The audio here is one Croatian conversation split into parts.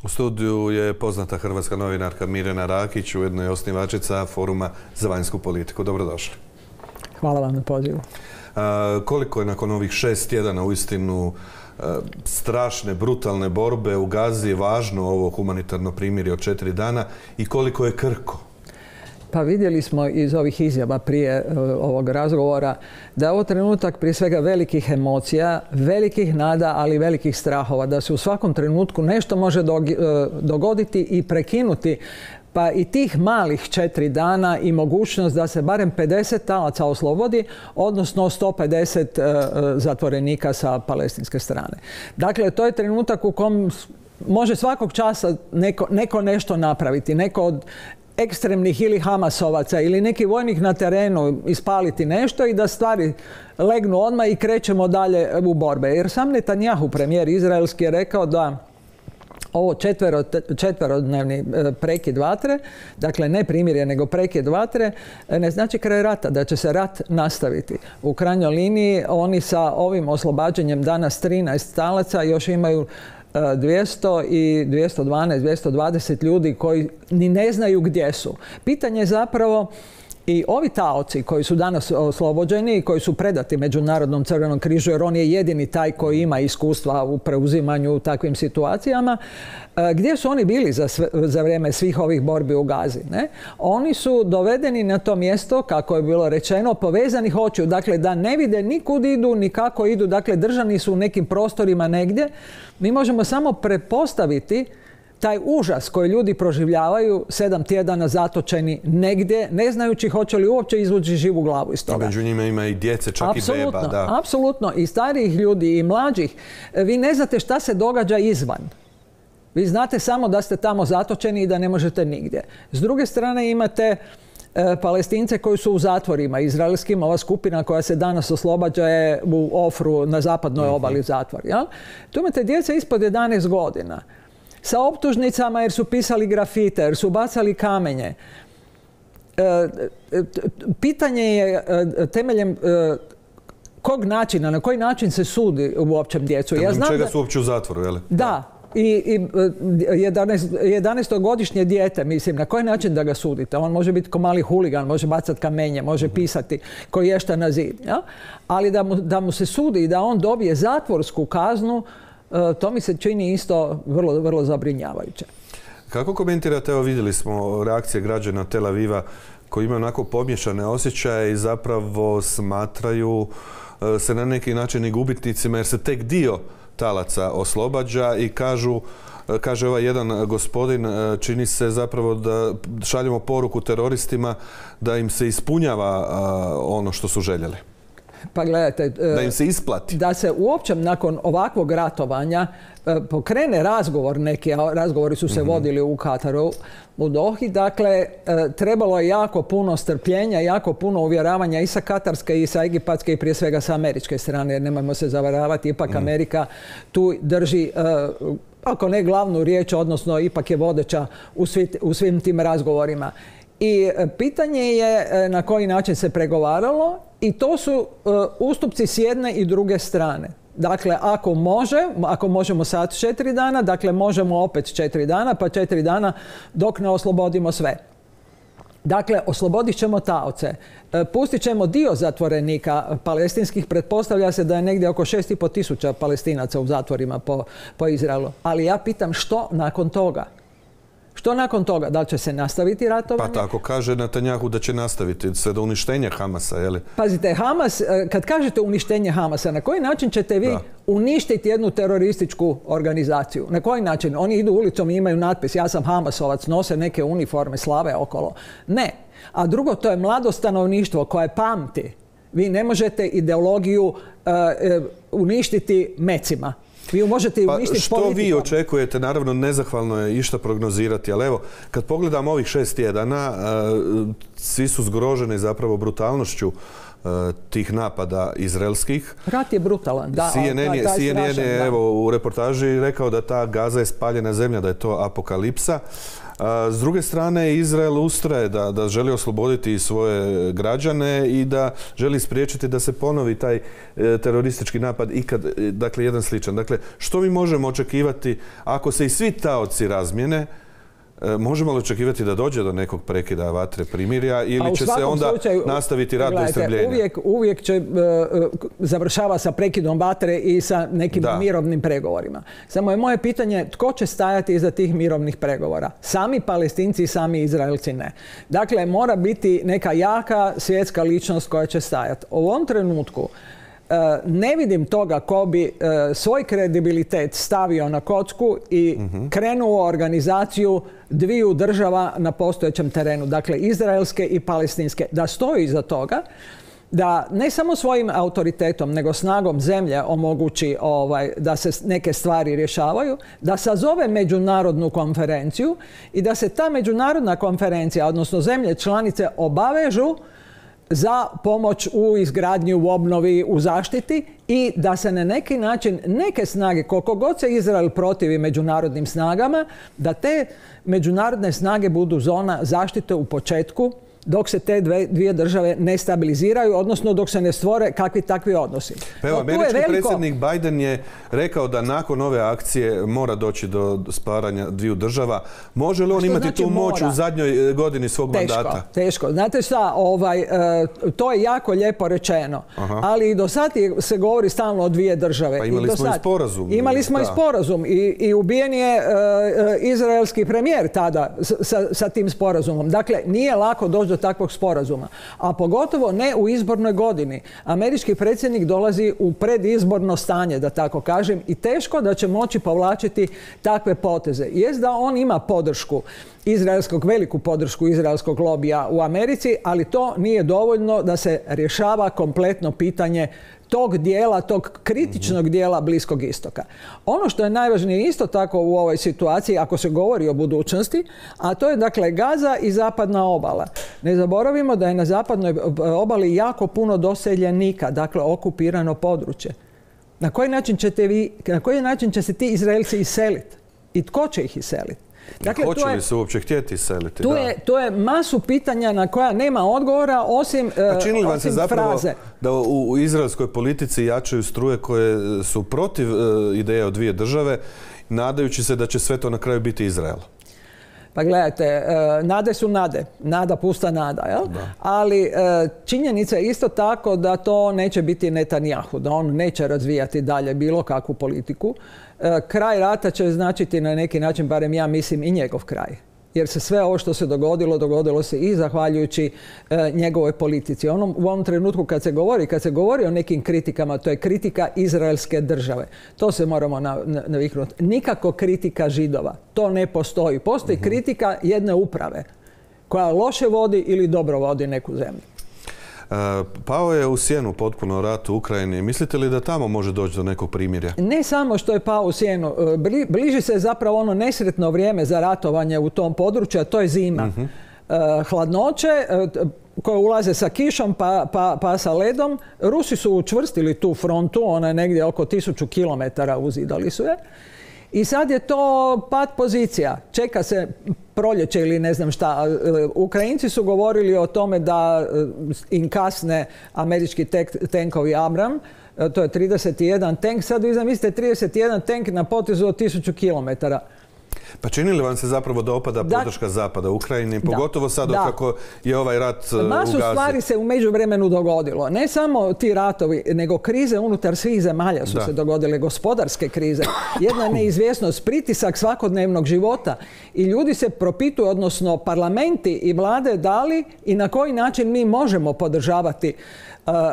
U studiju je poznata hrvatska novinarka Mirjana Rakić, ujedno je osnivačica Foruma za vanjsku politiku. Dobrodošli. Hvala vam na pozivu. Koliko je nakon ovih 6 tjedana uistinu strašne, brutalne borbe u Gazi važno ovo humanitarno primirje od 4 dana i koliko je krhko? Pa vidjeli smo iz ovih izjava prije ovog razgovora da je ovo trenutak prije svega velikih emocija, velikih nada, ali i velikih strahova. Da se u svakom trenutku nešto može dogoditi i prekinuti. Pa i tih malih 4 dana i mogućnost da se barem 50 talaca oslobodi, odnosno 150 zatvorenika sa palestinske strane. Dakle, to je trenutak u kom može svakog časa neko nešto napraviti. Neko od ekstremnih ili Hamasovaca ili neki vojnik na terenu ispaliti nešto i da stvari legnu odmah i krećemo dalje u borbe. Jer sam Netanjahu, premijer izraelski, je rekao da ovo četverodnevni prekid vatre, dakle ne primirje nego prekid vatre, ne znači kraj rata, da će se rat nastaviti. U krajnjoj liniji oni sa ovim oslobađanjem danas 13 talaca još imaju 200 i 212, 220 ljudi koji ni ne znaju gdje su. Pitanje je zapravo i ovi taoci koji su danas oslobođeni i koji su predati Međunarodnom crvenom križu, jer on je jedini taj koji ima iskustva u preuzimanju u takvim situacijama, gdje su oni bili za vrijeme svih ovih borbi u Gazi? Ne? Oni su dovedeni na to mjesto, kako je bilo rečeno, povezanih očiju. Dakle, da ne vide ni kud idu, ni kako idu. Dakle, držani su u nekim prostorima negdje. Mi možemo samo pretpostaviti taj užas koji ljudi proživljavaju 7 tjedana zatočeni negdje, ne znajući hoće li uopće izvući živu glavu iz toga. Među njima ima i djece, čak i beba. Da. Apsolutno. I starijih ljudi i mlađih. Vi ne znate šta se događa izvan. Vi znate samo da ste tamo zatočeni i da ne možete nigdje. S druge strane imate Palestince koji su u zatvorima izraelskim. Ova skupina koja se danas oslobađa je u Ofru na zapadnoj obali zatvor. Ja? Tu imate djece ispod 11 godina. Sa optužnicama jer su pisali grafite, jer su bacali kamenje. Pitanje je temeljem kog načina, na koji način se sudi uopće djecu. Ja znam čega su uopće u zatvoru, je li? Da. I 11-godišnje dijete, mislim, na koji način da ga sudite? On može biti ko mali huligan, može bacati kamenje, može pisati koji ješta na zid. Ja? Ali da mu se sudi i da on dobije zatvorsku kaznu, to mi se čini isto vrlo, vrlo zabrinjavajuće. Kako komentirate, evo vidjeli smo reakcije građana Tel Aviva koji imaju onako pomiješane osjećaje i zapravo smatraju se na neki način i gubitnicima jer se tek dio talaca oslobađa i kaže ovaj jedan gospodin, čini se zapravo da šaljemo poruku teroristima da im se ispunjava ono što su željeli. Pa gledajte, da im se isplati. Da se uopće nakon ovakvog ratovanja pokrene razgovor neki, a razgovori su se vodili u Kataru, u Dohi, dakle, trebalo je jako puno strpljenja, jako puno uvjeravanja i sa katarske i sa egipatske i prije svega sa američke strane, jer nemojmo se zavaravati, ipak Amerika tu drži, ako ne glavnu riječ, odnosno ipak je vodeća u svim tim razgovorima. I pitanje je na koji način se pregovaralo i to su ustupci s jedne i druge strane. Dakle, ako možemo sad 4 dana, dakle možemo opet 4 dana, pa 4 dana dok ne oslobodimo sve. Dakle, oslobodit ćemo taoce. Pustit ćemo dio zatvorenika palestinskih. Pretpostavlja se da je negdje oko 6.500 Palestinaca u zatvorima po Izraelu. Ali ja pitam što nakon toga? Što nakon toga? Da li će se nastaviti ratovanje? Pa tako kaže Netanjahu da će nastaviti sve do uništenja Hamasa, je li? Pazite, Hamas, kad kažete uništenje Hamasa, na koji način ćete vi uništiti jednu terorističku organizaciju? Na koji način? Oni idu ulicom i imaju natpis ja sam Hamasovac, nose neke uniforme, slave okolo. Ne. A drugo, to je mlado stanovništvo koje pamti. Vi ne možete ideologiju uništiti mecima. Vi možete uništiti što politikom. Vi očekujete? Naravno, nezahvalno je išta prognozirati, ali evo, kad pogledamo ovih 6 tjedana, svi su zgroženi zapravo brutalnošću tih napada izraelskih. Rat je brutalan. Da, CNN je evo, u reportaži rekao da ta Gaza je spaljena zemlja, da je to apokalipsa. S druge strane, Izrael ustraje da želi osloboditi svoje građane i da želi spriječiti da se ponovi taj teroristički napad ikad, dakle, jedan sličan. Dakle, što mi možemo očekivati ako se i svi taoci razmjene? Možemo li očekivati da dođe do nekog prekida vatre, primirja ili će se onda nastaviti rat do istrebljenja? Uvijek će završava sa prekidom vatre i sa nekim mirovnim pregovorima. Samo je moje pitanje tko će stajati iza tih mirovnih pregovora? Sami Palestinci i sami Izraelci ne. Dakle, mora biti neka jaka svjetska ličnost koja će stajati. U ovom trenutku ne vidim toga ko bi svoj kredibilitet stavio na kocku i krenuo organizaciju dviju država na postojećem terenu, dakle izraelske i palestinske, da stoji iza toga, da ne samo svojim autoritetom, nego snagom zemlje omogući da se neke stvari rješavaju, da sazove međunarodnu konferenciju i da se ta međunarodna konferencija, odnosno zemlje članice, obavežu za pomoć u izgradnji, u obnovi, u zaštiti i da se na neki način neke snage, koliko god se Izrael protivi međunarodnim snagama, da te međunarodne snage budu zona zaštite u početku dok se te dvije države ne stabiliziraju, odnosno dok se ne stvore kakvi takvi odnosi. Evo, američki predsjednik Biden je rekao da nakon ove akcije mora doći do stvaranja dviju država. Može li on imati tu moć u zadnjoj godini svog mandata? Teško. Znate šta, to je jako lijepo rečeno, ali i do sad se govori stalno o dvije države. Pa imali smo i sporazum. Imali smo i sporazum i ubijen je izraelski premijer tada sa tim sporazumom. Dakle, nije lako doći do takvog sporazuma. A pogotovo ne u izbornoj godini. Američki predsjednik dolazi u predizborno stanje, da tako kažem, i teško da će moći povlačiti takve poteze. Jest da on ima podršku veliku podršku izraelskog lobija u Americi, ali to nije dovoljno da se rješava kompletno pitanje tog kritičnog dijela Bliskog istoka. Ono što je najvažnije isto tako u ovoj situaciji, ako se govori o budućnosti, a to je dakle Gaza i zapadna obala. Ne zaboravimo da je na zapadnoj obali jako puno doseljenika, dakle okupirano područje. Na koji način će se ti Izraelci iseliti? I tko će ih iseliti? Dakle, hoće li se uopće htjeti iseliti? To je masu pitanja na koja nema odgovora osim fraze. Čini li vam se zapravo da u izraelskoj politici jačaju struje koje su protiv ideje o dvije države, nadajući se da će sve to na kraju biti Izrael? Pa gledajte, nade su nade. Nada pusta nada, jel? Ali činjenica je isto tako da to neće biti Netanjahu, da on neće razvijati dalje bilo kakvu politiku. Kraj rata će značiti na neki način, barem ja mislim, i njegov kraj. Jer se sve ovo što se dogodilo se i zahvaljujući njegovoj politici. U ovom trenutku kad se govori o nekim kritikama, to je kritika izraelske države. To se moramo naviknuti. Nikako kritika Židova. To ne postoji. Postoji kritika jedne uprave koja loše vodi ili dobro vodi neku zemlju. Pao je u sjenu potpuno rat u Ukrajini. Mislite li da tamo može doći do nekog primirja? Ne samo što je pao u sjenu. Bliži se zapravo ono nesretno vrijeme za ratovanje u tom području, a to je zima. Hladnoće koje ulaze sa kišom pa sa ledom. Rusi su učvrstili tu frontu, ona je negdje oko 1000 kilometara uzidali su je. I sad je to pad pozicija. Čeka se proljeće ili ne znam šta. Ukrajinci su govorili o tome da im kasne američki tenkovi Abram. To je 31 tank. Sad vi zamislite 31 tank na potezu od 1000 kilometara. Pa čini li vam se zapravo da opada podrška Zapada u Ukrajini, pogotovo sad kako je ovaj rat u Gazi? Masu stvari se u međuvremenu dogodilo. Ne samo ti ratovi, nego krize unutar svih zemalja su se dogodile, gospodarske krize. Jedna neizvjesnost, pritisak svakodnevnog života i ljudi se propituju, odnosno parlamenti i vlade, da li i na koji način mi možemo podržavati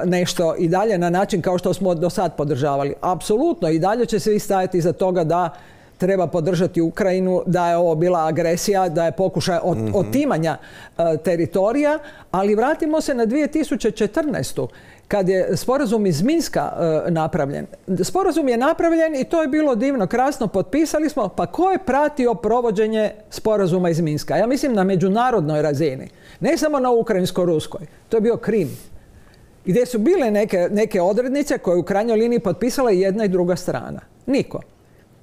nešto i dalje na način kao što smo do sad podržavali. Apsolutno i dalje će svi stajati iza toga da treba podržati Ukrajinu, da je ovo bila agresija, da je pokušaj otimanja teritorija, ali vratimo se na 2014. kad je sporazum iz Minska napravljen. Sporazum je napravljen i to je bilo divno, krasno, potpisali smo, pa ko je pratio provođenje sporazuma iz Minska? Ja mislim na međunarodnoj razini, ne samo na ukrajinsko-ruskoj. To je bio Krim. gdje su bile neke odrednice koje u krajnjoj liniji potpisala i jedna i druga strana. Niko.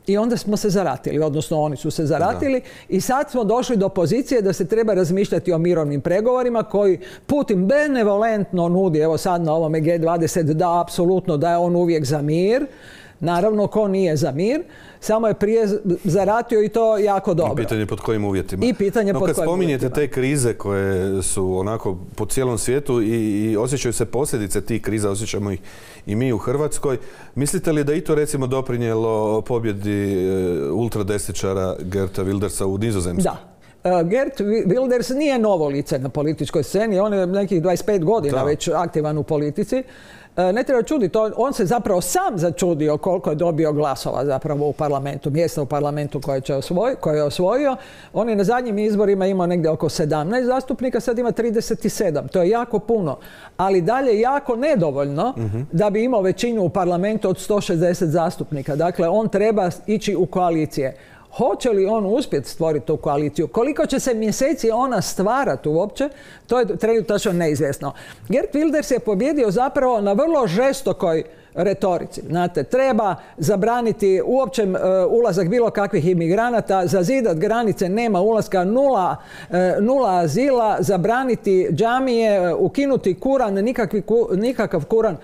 I onda smo se zaratili, odnosno oni su se zaratili i sad smo došli do pozicije da se treba razmišljati o mirovnim pregovorima koji Putin benevolentno nudi, evo sad na ovome G20 da apsolutno da je on uvijek za mir. Naravno, ko nije za mir, samo je prije zaratio i to jako dobro. I pitanje pod kojim uvjetima. No, kad spominjete te krize koje su onako po cijelom svijetu i osjećaju se posljedice tih kriza, osjećamo ih i mi u Hrvatskoj, mislite li da i to recimo doprinijelo pobjedi ultradesničara Geerta Wildersa u Nizozemskoj? Da. Geert Wilders nije novo lice na političkoj sceni, on je nekih 25 godina već aktivan u politici. Ne treba čuditi, on se zapravo sam začudio koliko je dobio glasova zapravo u parlamentu, mjesta u parlamentu koje je osvojio. On je na zadnjim izborima imao negdje oko 17 zastupnika, sad ima 37. To je jako puno, ali dalje jako nedovoljno da bi imao većinu u parlamentu od 160 zastupnika. Dakle, on treba ići u koalicije. Hoće li on uspjeti stvoriti tu koaliciju? Koliko će se mjeseci ona stvarati uopće, to je trenutačno neizvjesno. Geert Wilders je pobjedio zapravo na vrlo žestokoj retorici. Znate, treba zabraniti uopće ulazak bilo kakvih imigranata, zazidat granice, nema ulaska, nula azila, zabraniti džamije, ukinuti Kuran, nikakav Kuran.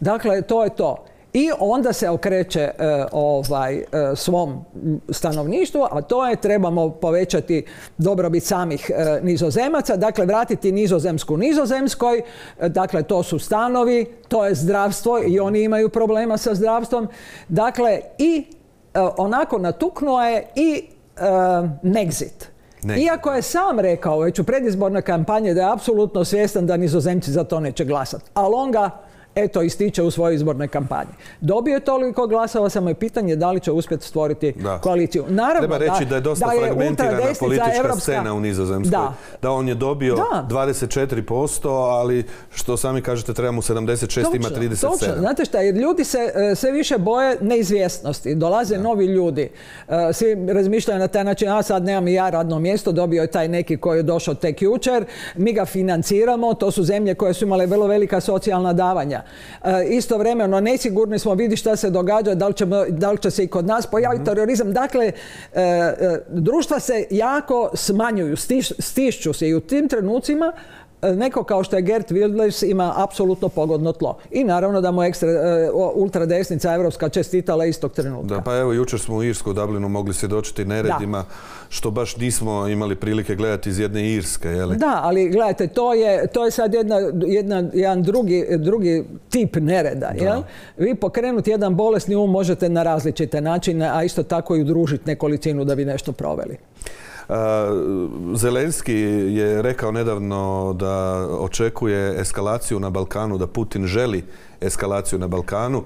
Dakle, to je to. I onda se okreće svom stanovništvu, a to je trebamo povećati dobrobit samih Nizozemaca, dakle vratiti Nizozemsku Nizozemskoj, dakle to su stanovi, to je zdravstvo i oni imaju problema sa zdravstvom. Dakle, i onako natuknuo je i Nexit. Iako je sam rekao već u predizbornoj kampanji da je apsolutno svjestan da Nizozemci za to neće glasati, ali on ga ističe u svojoj izbornoj kampanji. Dobio je toliko glasova, samo je pitanje da li će uspjeti stvoriti koaliciju. Naravno, treba reći da je dosta fragmentirana politička scena u Nizozemskoj. Da on je dobio 24%, ali što sami kažete treba mu 76, ima 37%. Točno. Znate šta, jer ljudi se sve više boje neizvjesnosti. Dolaze novi ljudi. Svi razmišljaju na taj način, a sad nemam i ja radno mjesto, dobio je taj neki koji je došao tek jučer, mi ga financiramo, to su zemlje koje su imale vrlo velika socijalna davanja. Istovremeno nesigurni smo, vidi šta se događa, da li će se i kod nas pojaviti terorizam. Dakle, društva se jako smanjuju, stišću se i u tim trenucima neko kao što je Geert Wilders ima apsolutno pogodno tlo. I naravno da mu ultradesnica evropska čestitala istog trenutka. Da, pa evo jučer smo u Irskoj, u Dublinu mogli svjedočiti neredima što baš nismo imali prilike gledati iz jedne Irske. Jeli? Da, ali gledajte, to je sad jedan drugi tip nereda. Jel? Vi pokrenuti jedan bolesni možete na različite načine, a isto tako i udružiti nekolicinu da bi nešto proveli. Zelenski je rekao nedavno da očekuje eskalaciju na Balkanu, da Putin želi eskalaciju na Balkanu.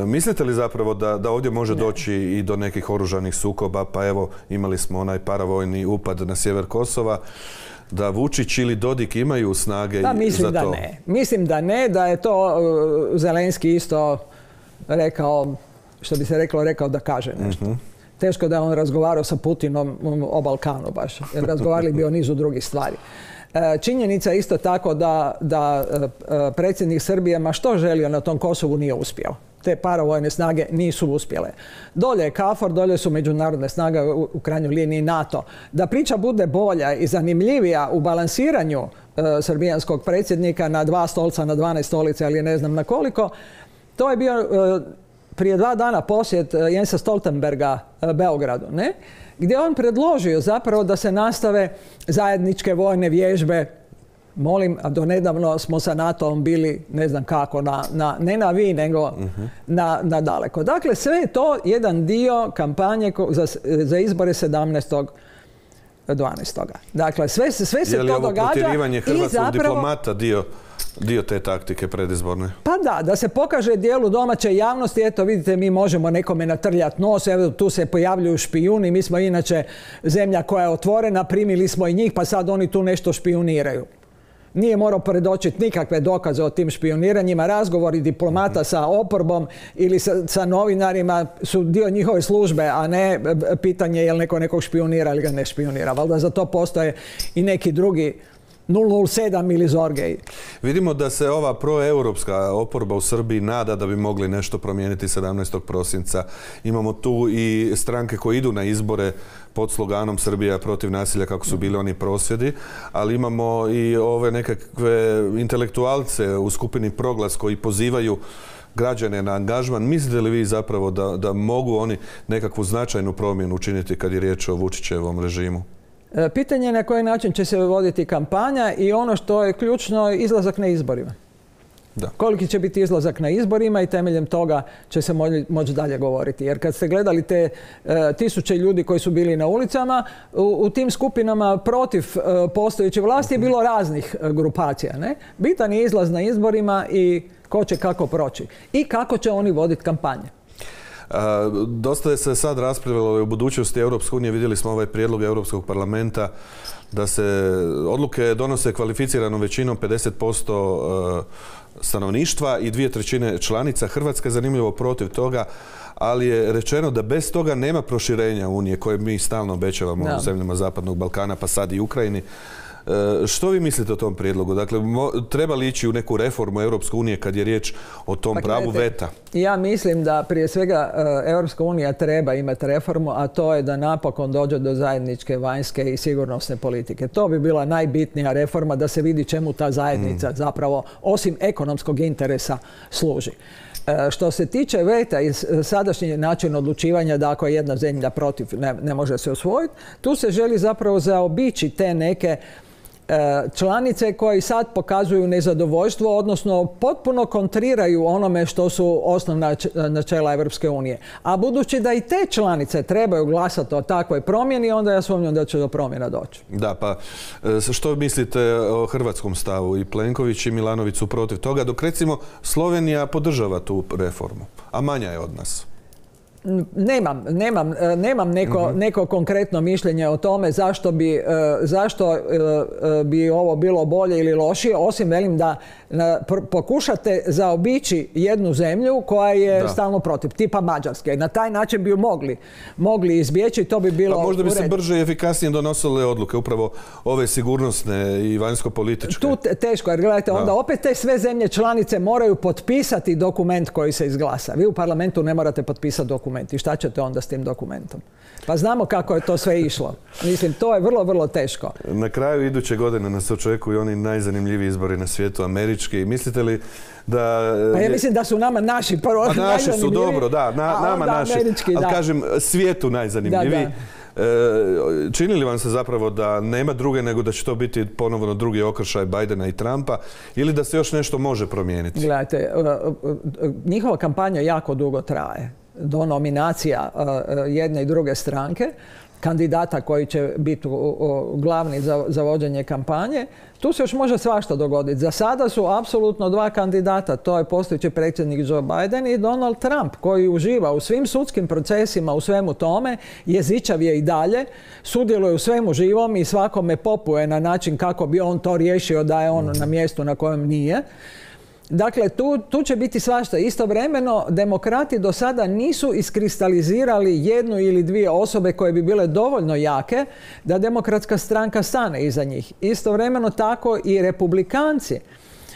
Mislite li zapravo da ovdje može doći i do nekih oružanih sukoba? Pa evo, imali smo onaj paravojni upad na sjever Kosova. Da Vučić ili Dodik imaju snage za to? Mislim da ne, da je to Zelenski isto rekao, što bi se rekao da kaže nešto. Teško da je on razgovarao sa Putinom o Balkanu baš. Razgovarali bi o nizu drugih stvari. Činjenica je isto tako da predsjednik Srbije, ma što želio na tom Kosovu, nije uspio. Te paravojne snage nisu uspjele. Dolje je KFOR, dolje su međunarodne snage, u krajnjoj liniji NATO. Da priča bude bolja i zanimljivija u balansiranju srbijanskog predsjednika na 2 stolca, na 12 stolica ili ne znam na koliko, to je bio prije 2 dana posjet Jensa Stoltenberga Beogradu, ne? Gdje on predložio zapravo da se nastave zajedničke vojne vježbe. Molim, a donedavno smo sa NATO-om bili, ne znam kako, ne na vi, nego na daleko. Dakle, sve je to jedan dio kampanje za izbore 17.12. Dakle, sve se to događa. Je li ovo protjerivanje hrvatskog diplomata dio te taktike predizborne? Pa da se pokaže dijelu domaće javnosti, eto vidite, mi možemo nekome natrljati nos, evo tu se pojavljuju špijuni, mi smo inače zemlja koja je otvorena, primili smo i njih, pa sad oni tu nešto špijuniraju. Nije morao predočiti nikakve dokaze o tim špijuniranjima. Razgovori diplomata sa oporbom ili sa novinarima su dio njihove službe, a ne pitanje je li neko nekog špijunira ili ga ne špijunira. Valjda za to postoje i neki drugi 007 ili Zorgej. Vidimo da se ova proeuropska oporba u Srbiji nada da bi mogli nešto promijeniti 17. prosinca. Imamo tu i stranke koje idu na izbore pod sloganom Srbija protiv nasilja, kako su bili oni prosvjedi, ali imamo i ove nekakve intelektualce u skupini Proglas koji pozivaju građane na angažman. Mislite li vi zapravo da mogu oni nekakvu značajnu promjenu učiniti kad je riječ o Vučićevom režimu? Pitanje je na koji način će se voditi kampanja i ono što je ključno je izlazak na izborima. Da. Koliki će biti izlazak na izborima i temeljem toga će se moći dalje govoriti. Jer kad ste gledali te tisuće ljudi koji su bili na ulicama, u tim skupinama protiv postojeće vlasti je bilo raznih grupacija. Ne? Bitan je izlaz na izborima i ko će kako proći. I kako će oni voditi kampanje. Dosta je se sad raspravljalo u budućnosti Europske unije. Vidjeli smo ovaj prijedlog Europskog parlamenta da se odluke donose kvalificiranom većinom 50% stanovništva i 2/3 članica. Hrvatska je zanimljivo protiv toga, ali je rečeno da bez toga nema proširenja Unije koje mi stalno obećavamo u zemljama Zapadnog Balkana, pa sad i Ukrajini. Što vi mislite o tom prijedlogu? Dakle, treba li ići u neku reformu Europske unije kad je riječ o tom pravu veta? Ja mislim da prije svega Europska unija treba imati reformu, a to je da napokon dođe do zajedničke vanjske i sigurnosne politike. To bi bila najbitnija reforma, da se vidi čemu ta zajednica zapravo, osim ekonomskog interesa, služi. Što se tiče veta i sadašnji način odlučivanja da ako je jedna zemlja protiv ne može se usvojiti, tu se želi zapravo zaobići te neke članice koji sad pokazuju nezadovoljstvo, odnosno potpuno kontriraju onome što su osnovna načela Europske unije. A budući da i te članice trebaju glasati o takvoj promjeni, onda ja sumnjam da će do promjena doći. Da, pa što mislite o hrvatskom stavu? I Plenković i Milanović su protiv toga, dok recimo Slovenija podržava tu reformu, a manja je od nas. Nemam neko konkretno mišljenje o tome zašto bi ovo bilo bolje ili lošije, osim velim da pokušate zaobići jednu zemlju koja je stalno protiv, tipa Mađarske. Na taj način bi ju mogli izbjeći i to bi bilo... Pa možda bi se brže i efikasnije donosile odluke, upravo ove sigurnosne i vanjsko-političke. Tu teško, jer gledajte, onda opet te sve zemlje članice moraju potpisati dokument koji se izglasa. Vi u parlamentu ne morate potpisati dokument. I šta ćete onda s tim dokumentom? Pa znamo kako je to sve išlo. Mislim, to je vrlo, vrlo teško. Na kraju iduće godine nas očekuju oni najzanimljiviji izbori na svijetu, američki. Mislite li da... Pa ja mislim da su nama naši prvo naši su dobro, da, nama naši. Ali kažem, svijetu najzanimljiviji. Čini li vam se zapravo da nema druge nego da će to biti ponovno drugi okršaj Bidena i Trumpa ili da se još nešto može promijeniti? Gledajte, njihova kampanja jako dugo traje. Do nominacija jedne i druge stranke, kandidata koji će biti glavni za vođenje kampanje, tu se još može svašta dogoditi. Za sada su apsolutno dva kandidata, to je postojeći predsjednik Joe Biden i Donald Trump, koji uživa u svim sudskim procesima, u svemu tome, jezičav je i dalje, sudjeluje u svemu živom i svakome popuje na način kako bi on to riješio da je on na mjestu na kojem nije. Dakle, tu će biti svašta. Istovremeno, demokrati do sada nisu iskristalizirali jednu ili dvije osobe koje bi bile dovoljno jake da demokratska stranka stane iza njih. Istovremeno tako i republikanci.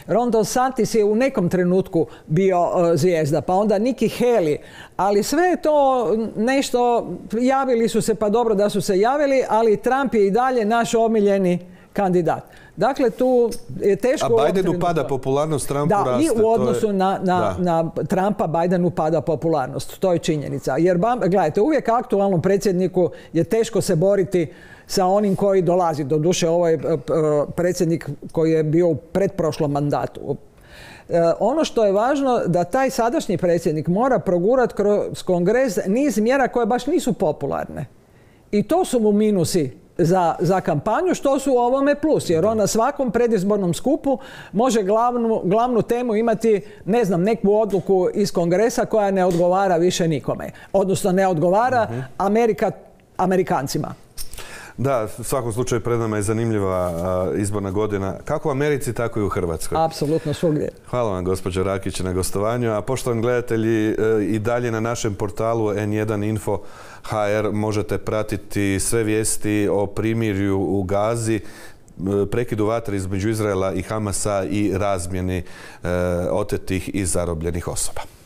Ron DeSantis je u nekom trenutku bio zvijezda, pa onda Nikki Haley, ali sve je to nešto, javili su se, pa dobro da su se javili, ali Trump je i dalje naš omiljeni kandidat. Dakle, tu je teško... A Bidenu pada popularnost, Trumpu raste. Da, i u odnosu na Trumpa Bidenu pada popularnost. To je činjenica. Jer, gledajte, uvijek aktualnom predsjedniku je teško se boriti sa onim koji dolazi. Doduše, ovo je predsjednik koji je bio u pretprošlom mandatu. Ono što je važno da taj sadašnji predsjednik mora progurati kroz kongres niz mjera koje baš nisu popularne. I to su mu minusi za kampanju, što su u ovome plus. Jer on na svakom predizbornom skupu može glavnu temu imati, ne znam, neku odluku iz kongresa koja ne odgovara više nikome. Odnosno ne odgovara Amerikancima. Da, u svakom slučaju pred nama je zanimljiva izborna godina. Kako u Americi, tako i u Hrvatskoj. Apsolutno svugdje. Hvala vam, gospođo Rakić, na gostovanju. A poštovani gledatelji, i dalje na našem portalu N1info.hr možete pratiti sve vijesti o primirju u Gazi. prekidu vatre između Izraela i Hamasa i razmjeni otetih i zarobljenih osoba.